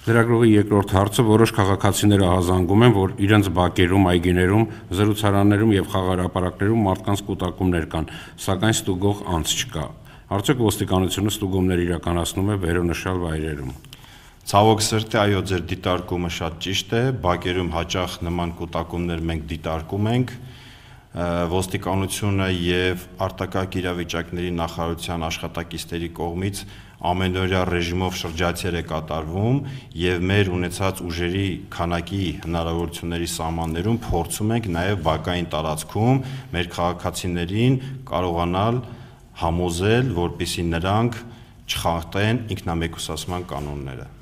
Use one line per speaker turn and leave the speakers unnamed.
Լրագրողի երկրորդ հարցը որոշ քաղաքացիներ ահազանգում են, որ իրենց բակերում, այգիներում, զրուցարաններում եւ խաղահրապարակներում մարդկանց կուտակումներ կան, սակայն ստուգող անձ չկա։ Արդյոք ոստիկանությունը ստուգումներ իրականացնում է վերոնշյալ վայրերում։
Ցավոք սրտի, այո, ձեր դիտարկումը շատ ճիշտ է, բակերում հաճախ նման կուտակումներ մենք դիտարկում ենք, ոստիկանությունը եւ արտակարգ իրավիճակների նախարարության աշխատակիցների կողմից ամենօրյա ռեժիմով շրջայցեր է կատարվում եւ մեր ունեցած ուժերի քանակի հնարավորությունների սահմաններում փորձում ենք նաեւ բակային տարածքում մեր քաղաքացիներին կարողանալ համոզել, որպեսզի նրանք չխախտեն ինքնամեկուսացման կանոնները։